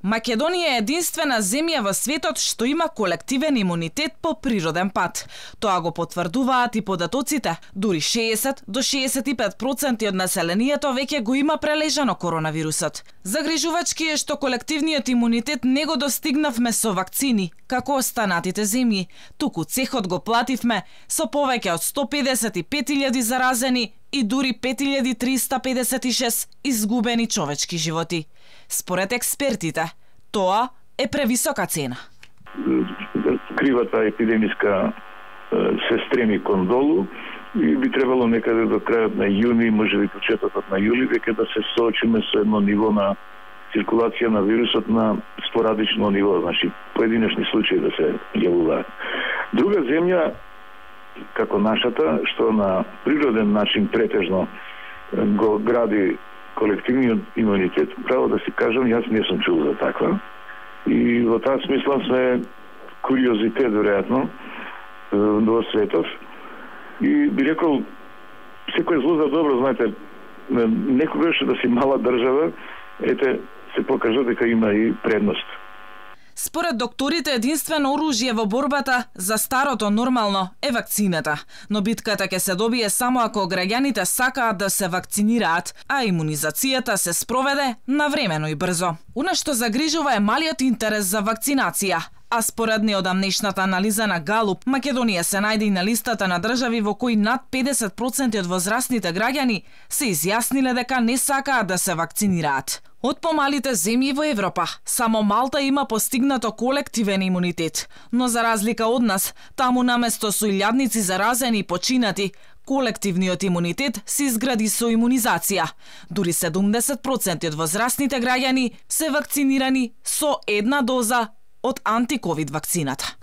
Македонија е единствена земја во светот што има колективен имунитет по природен пат. Тоа го потврдуваат и податоците. Дури 60 до 65% од населението веќе го има прележано коронавирусот. Загрижувачки е што колективниот имунитет не го достигнавме со вакцини, како останатите земји. Туку цехот го плативме со повеќе од 155.000 заразени и дури 5.356 изгубени човечки животи. Според експертите, тоа е превисока цена. Кривата епидемиска се стреми кон долу и би требало некаде до крајот на јуни, можеби почетокот на јули, веќе да се соочиме со едно ниво на циркулација на вирусот на спорадично ниво, значи поединечни случаи да се јавуваат. Друга земја, како нашата, што на природен начин претежно го гради колективниот имунитет, право да си кажам, јас не сум чул за таква. И во таа смисла сме куриозитет, веројатно, во светот. И би рекол, секој зло за добро, знаете, некогаш да си мала држава, ете, се покажа дека има и предност. Според докторите, единствено оружје во борбата за старото нормално е вакцината, но битката ќе се добие само ако граѓаните сакаат да се вакцинираат, а имунизацијата се спроведе навремено и брзо. Она што загрижува е малиот интерес за вакцинација, а според неодамнешната анализа на Галуп, Македонија се најде и на листата на држави во кои над 50% од возрастните граѓани се изјасниле дека не сакаат да се вакцинираат. Од помалите земји во Европа, само Малта има постигнато колективен имунитет, но за разлика од нас, таму наместо со илјадници заразени и починати, колективниот имунитет се изгради со имунизација. Дури 70% од возрастните граѓани се вакцинирани со една доза од антиковид вакцината.